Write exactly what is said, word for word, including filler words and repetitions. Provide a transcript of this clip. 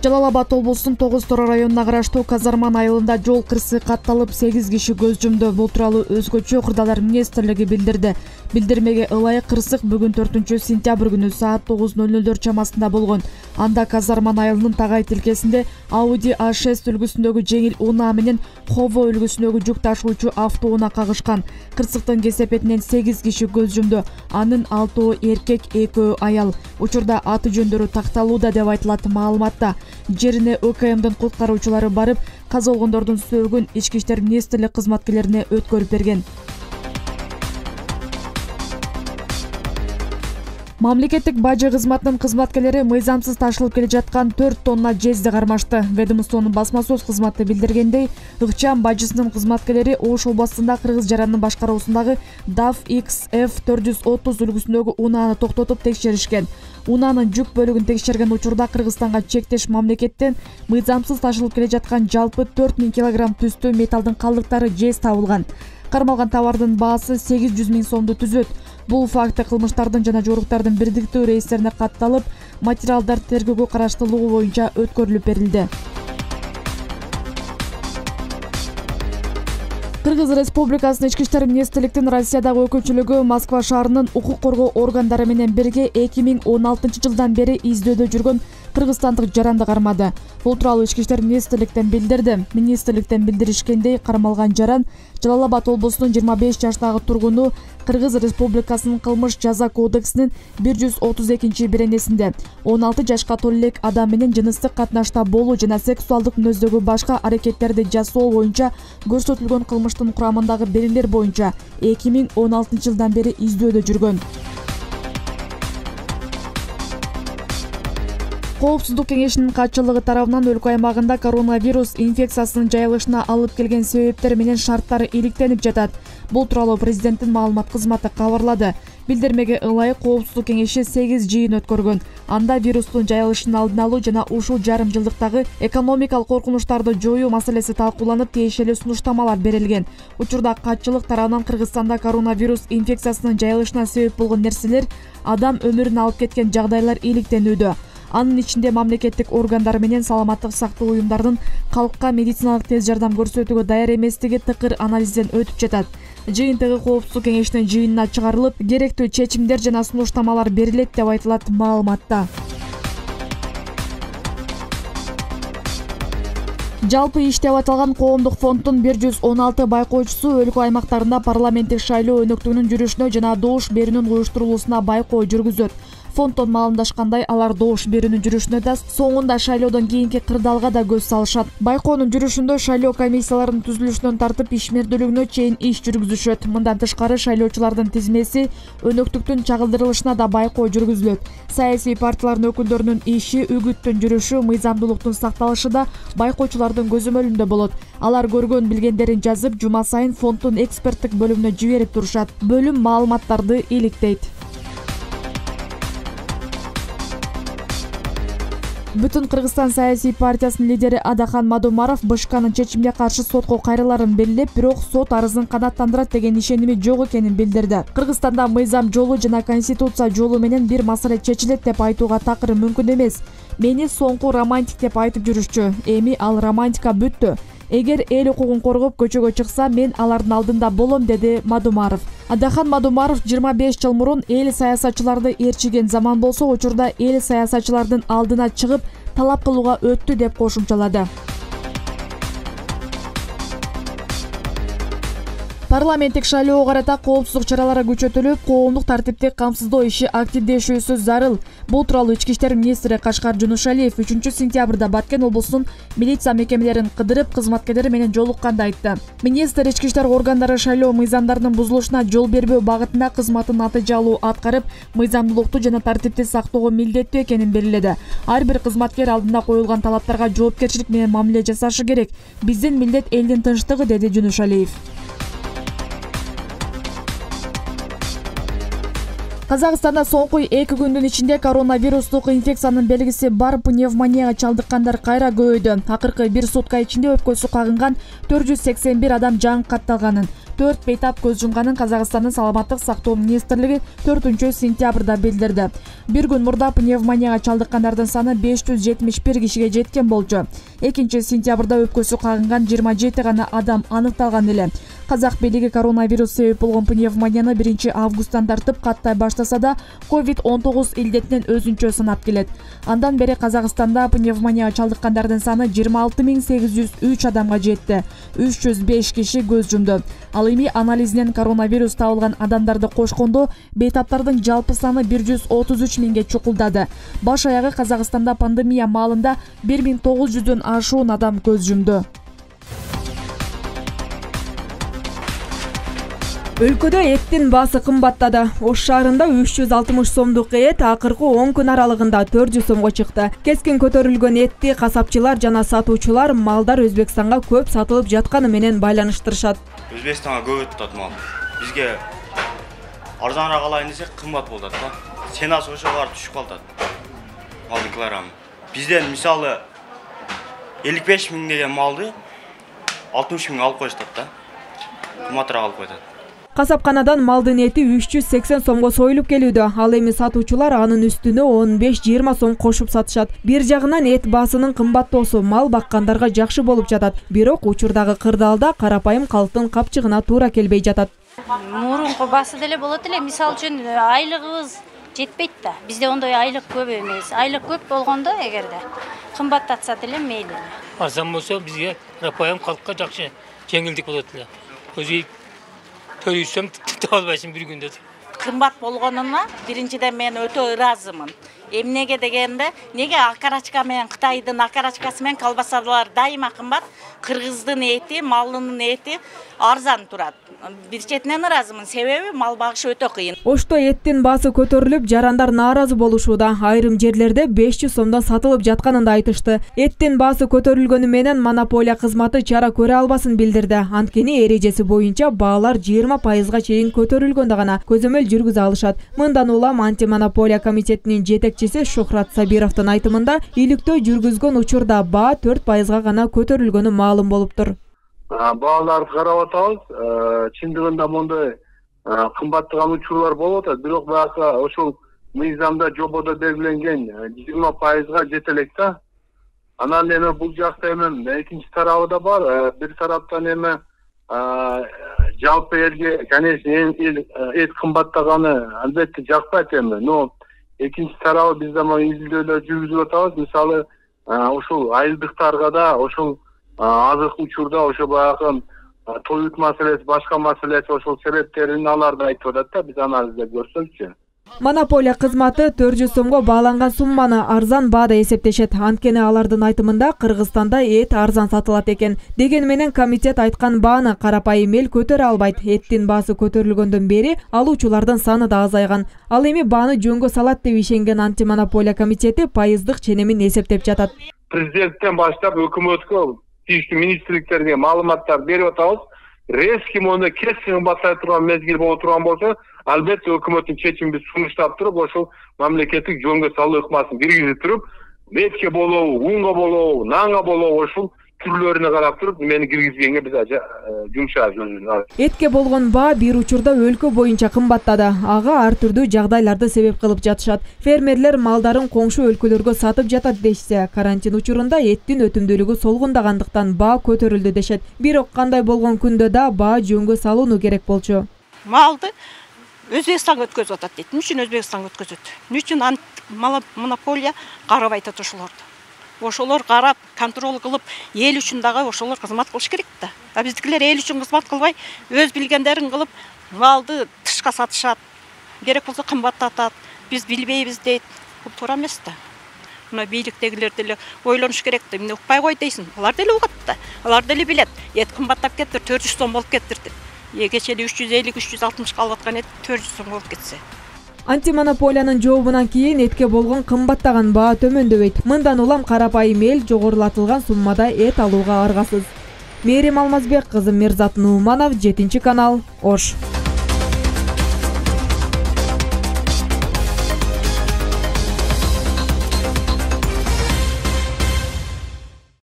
Жалал Абад облусунун тогуз Тора районуна караштуу Казарман айылында жол кырсыгы катталып сегиз киши көз жумду. Бул тууралуу Өзгөчө Кырдаалар министрлиги билдирди. Билдирмеге ылайык кырсык бүгүн төртүнчү сентябрь күнү саат тогуз ноль нолдор чамасында болгон. Анда Казарман айылынын тагай тилкесинде Audi А шесть үлгүсүндөгү жеңил унаа менен Хово үлгүсүндөгү жүк ташуучу автоунаа кагышкан. Кырсыктын кесепетинен сегиз киши көз жумду. Анын алтоо эркек, экөө аял. Учурда аты жөндөрү такталууда деп айтылат маалыматта. Жерине О К Мдин куткаруучулары барып, каза болгондордун сөөгүн Ички иштер министрлик кызматкерлерине өткөрүп берген. Мамлекеттик бажы кызматынын кызматкерлери мыйзамсыз ташылып келе жаткан төрт тонна жезди кармашты. Ведомствонун басма сөз кызматы билдиргендей, ыкчам бажысынын кызматкерлери Ош областында Кыргыз жарандын башкаруусундагы даф Икс Ф төрт жүз отуз үлгүсүндөгү унааны токтотуп текшеришкен. Унаанын жүк бөлүгүн текшерген учурда Кыргызстанга чектеш мамлекеттен мыйзамсыз ташылып келе жаткан жалпы төрт миң килограмм түстүү металдын калдыктары жез табылган. Кармалган товардын баасы сегиз жүз миң сомду түзөт. Бул факты кылмыштардын жана жоруктардын бирдиктүү рейстерине катталып, материалдар тергөөгө караштуулугу боюнча өткөрүлүп берилди. Кыргыз Республикасынын Ички иштер министрликтин Россиядагы өкүлчүлүгү Москва шаарынын укук коргоо органдары менен бирге эки миң он алтынчы жылдан бери издөөдө жүргөн кыргызстандык жаранды кармады. Бул тууралуу Ички иштер министрликтен билдирди. Министрликтен билдиришкендей, кармалган жаран Жалал Абад облусунун жыйырма беш жаштагы тургуну Кыргыз Республикасынын кылмыш жаза кодексинин бир жүз отуз экинчи беренесинде он алты жашка толо элек адам менен жыныстык катнашта болуу жана сексуалдык мүнөздөгү башка аракеттерди жасоо боюнча көрсөтүлгөн кылмыштын курамындагы берилер боюнча эки миң он алтынчы жылдан бери издөөдө жүргөн. Коопсуздук кеңешинин катчылыгы тарабынан өлкө аймагында коронавирус инфекциясынын жайылышына алып келген себептер менен шарттары иликтенип жатат. Бул тууралуу президенттин маалымат кызматы кабарлады. Билдирмеге ылайык Коопсуздук кеңеши сегиз жыйын өткөргөн. Анда вирустун жайылышын алдын алуу жана ушул жарым жылдыктагы экономикалык коркунучтарды жоюу маселеси талкууланып, тиешелүү сунуштамалар берилген. Учурда катчылык тарабынан Кыргызстанда коронавирус инфекциясынын жайылышына себеп болгон нерселер, адам өмүрүн алып кеткен жагдайлар иликтенүүдө. Анын ичинде мамлекеттик органдар менен саламаттык сактоо уюмдарынын калкка медициналык тез жардам көрсөтүүгө даяр эместиги тыкыр анализден өтүп жатат. Жыйынтыгы Коопсуздук кеңешинин жыйынына чыгарылып, керектүү чечимдер жана сунуштамалар берилет деп айтылат маалыматта. Жалпы иштеп аталган коомдук фонддун бир жүз он алты байкоочусу өлкө аймактарында парламенттик шайлоо өнөктүгүнүн жүрүшүнө жана добуш берүүнүн уюштурулуусуна байкоо жүргүзөт. Фонддон маалымдашкандай, алар добуш берүүнүн жүрүшүнө да, соңунда шайлоодон кийинки кырдаалга да көз салышат. Байкоонун жүрүшүндө шайлоо комиссияларынын түзүлүшүнөн тартып ишмердүүлүгүнө чейин иш жүргүзүшөт. Мындан тышкары шайлоочулардын тизмеси, өнөктүктүн чагылдырылышына да байкоо жүргүзүлөт. Саясий партиялардын өкүлдөрүнүн иши, үгүттүн жүрүшү, мыйзамдуулуктун сакталышы да байкоочулардын көзөмөлүндө болот. Алар көргөн билгендерин жазып, жума сайын фонддун эксперттик бөлүмүнө жиберип турушат. Бөлүм маалыматтарды иликтейт. Бүтүн Кыргызстан саясий партиясынын лидери Адахан Мадумаров Бышканын чечимге каршы сотко кайрыларын белгилеп, бирок сот арызын канааттандырат деген ишеними жок экенин билдирди. Кыргызстанда мыйзам жолу жана конституция жолу менен бир маселе чечилет деп айтууга такыр мүмкүн эмес. Мени соңку романтик деп айтып жүрүшчү. Эми ал романтика бүттү. Эгер эл укугун коргоп көчөгө чыкса, мен алардын алдында болом, деди Мадумаров. Адахан Мадумаров жыйырма беш жыл мурун эл саясатчыларды ээрчиген заман болсо, учурда эл саясатчылардын алдына чыгып талап кылууга өттү деп кошумчалады. Парламенттик шайлоого карата коопсуздук чаралары күчөтүлүп, коомдук тартипти камсыздоо иши активдешүүсү зарыл. Бул тууралуу Ички иштер министри Кашкар Жунушалиев үчүнчү сентябрда Баткен облусунун милиция мекемелерин кыдырып, кызматкерлери менен жолукканда айтты. Министр ички иштер органдары шайлоо мыйзамдарынын бузулушуна жол бербөө багытында кызматын натыйжалуу аткарып, мыйзамдуулукту жана тартипти сактоого милдеттүү экенин белгиледи. Ар бир кызматкер алдында коюлган талаптарга жоопкерчилик менен мамиле жасашы керек. Биздин милдет элдин тынчтыгы, деди Жунушалиев. Казакстанда соңку эки күндүн ичинде коронавирустук инфекциянын белгиси бар пневмонияга чалдыккандар кайра көбөйдү. Акыркы бир сутка ичинде өпкөсү кагынган төрт жүз сексен бир адам жан катталганын, төрт бейтап көз жумганын Казакстандын саламаттык сактоо министрлиги төртүнчү сентябрда билдирди. Бир күн мурда пневмонияга чалдыккандардын саны беш жүз жетимиш бир кишиге жеткен болчу. экинчи сентябрда өпкөсү кагынган жыйырма жети гана адам аныкталган эле. Казак бийлиги коронавирус себеп болгон пневмонияны биринчи августтан тартып каттай баштаса да, ковид он тогуз илдетинен өзүнчө сынап келет. Андан бери Казакстанда пневмонияга чалдыккандардын саны жыйырма алты миң сегиз жүз үч адамга жетти. үч жүз беш киши көз жумду. Ал эми анализинен коронавирус табылган адамдарды кошкондо бейтаптардын жалпы саны бир жүз отуз үч миңге чукулдады. Баш аягы Казакстанда пандемия маалында бир миң тогуз жүздөн ашуун адам көз жумду. Өлкөдө эттин баасы кымбаттады. Ош шаарында үч жүз алтымыш сомдук эт акыркы он күн аралыгында төрт жүз сомго чыкты. Кескин көтөрүлгөн этти касапчылар жана сатуучулар малдар Өзбекстанга көп сатылып жатканы менен байланыштырышат. Өзбекстанга көп өтөт мал. Бизге арзаныраак алайын десек кымбат болот да. Ценасы ошого барып түшүп калат. Малдын килограммы. Бизден мисалы элүү беш миң деген малды алтымыш миң алып коюшат да. Кымбатыраак алып коет. Касапканадан малдын эти үч жүз сексен сомго союлуп келүүдө. Ал эми сатуучулар анын үстүнө он беш жыйырма сом кошуп сатышат. Бир жагынан эт баасынын кымбаттоосу мал баккандарга жакшы болуп жатат. Бирок учурдагы кырдаалда карапайым калктын капчыгына туура келбей жатат. Мурунку баасы деле болот эле. Мисалы үчүн айлыгыбыз жетпейт да. Бизде ондой айлык көп эмес. Айлык көп болгондо эгерде кымбаттатса деле мейли. Арзан болсо бизге карапайым калкка жакшы жеңилдик болот эле. Өзү төрүсөм типти албайсың бир күндө. Кымбат болгонуна биринчиден мен өтө ыраазымын. Эмнеге дегенде, неге акарачка менен Кытайдын акарачкасы менен колбасалар дайыма кымбат, кыргыздын эти, малдын эти арзан турат. Бир четинен ыраазымын, себеби мал багыш өтө кыйын. Ошто эттин баасы көтөрүлүп, жарандар нааразы болушууда. Айрым жерлерде беш жүз сомдон сатылып жатканын да айтышты. Эттин баасы көтөрүлгөнү менен монополия кызматы чара көрө албасын билдирди. Анткени эрежеси боюнча баалар жыйырма пайызга чейин көтөрүлгөндө гана көзөмөл жүргүзө алышат. Мындан улам антимонополия комитетинин жетекчиси Шухрат Сабировдун айтымында, иликтөө жүргүзгөн учурда баа төрт пайызга гана көтөрүлгөнү маалым болуптур. Бааларды карап атабыз. Чындыгында мондой кымбаттаган учурлар болуп атат, бирок баягы ошол мыйзамда жободо белгиленген жыйырма пайызга жете элек да. Анан эми бул жакта эми экинчи тарабы да бар. Бир тараптан эми жалпы элге, конечно, эт кымбаттаганы албетте жакпайт эми. Но экинчи тарабы биз да изилдөөлөр жүргүзүп атабыз. Мисалы, ошол айылдыктарга да ошол азык учурда ошо баягы тоют маселеси, башка маселеси ошол себептерин аларды айтып атат да, биз анализдеп көрсөкчү. Монополия кызматы төрт жүз сомго бааланган сумманы арзан баада эсептешет. Анткени алардын айтымында Кыргызстанда эт арзан сатылат экен. Деген менен комитет айткан бааны карапайым эл көтөрө албайт. Эттин баасы көтөрүлгөндөн бери алуучулардын саны да азайган. Ал эми бааны жөнгө салат деп ишенген антимонополия комитети пайыздык ченемин эсептеп жатат. Президенттен баштап өкмөткө, тийиштүү министрликтерге маалыматтар берип атабыз. Резки мону кесин кымбаттай турган мезгил боло турган болсо, албетте өкмөттүн чечимин сунуштап туруп, ошол мамлекеттик жөнгө салуу ыкмасын киргизип туруп, этке болобу, унга болобу, нанга болобу, ошол түрлөрүнө карап туруп, мени киргизгенге биз жумшайбыз. Этке болгон баа бир учурда өлкө боюнча кымбаттады. Ага ар түрдүү жагдайларды себеп кылып жатышат. Фермерлер малдарын коңшу өлкөлөргө сатып жатат дешсе, карантин учурунда эттин өтүмдүүлүгү солгундагандыктан баа көтөрүлдү дешет. Бирок кандай болгон күндө да баа жөнгө салууну керек болчу. Малды Өзбекстанга өткөзүп атат дейт. Эмне үчүн Өзбекстанга өткөзөт? Эмне үчүн монополия карабай атат ошолорду? Ошолор карап, контроль кылып, эл үчүн дагы ошолор кызмат кылыш керек да. А биздикилер эл үчүн кызмат кылбай, өз билгендерин кылып, малды тышка сатышат. Керек болсо кымбаттатат. Биз билбейбиз дейт. Бул туура эмес да. Мына бийликтегилер деле ойлонуш керек да. Эмне укпай кой дейсиң? Алар деле угат да. Алар деле билет. Эт кымбаттап кетти, төрт жүз сом болуп кетти. Кечээ үч жүз элүү үч жүз алтымышка алып аткан эт төрт жүз сом болуп кетсе. Антимонополиянын жообунан кийин этке болгон кымбаттаган баа төмөндөбөйт. Мындан улам карапайым эл жогорулатылган суммада эт алууга аргасыз. Мээрим Алмазбек кызы, Мирзат Нууманов, жетинчи канал, Ош.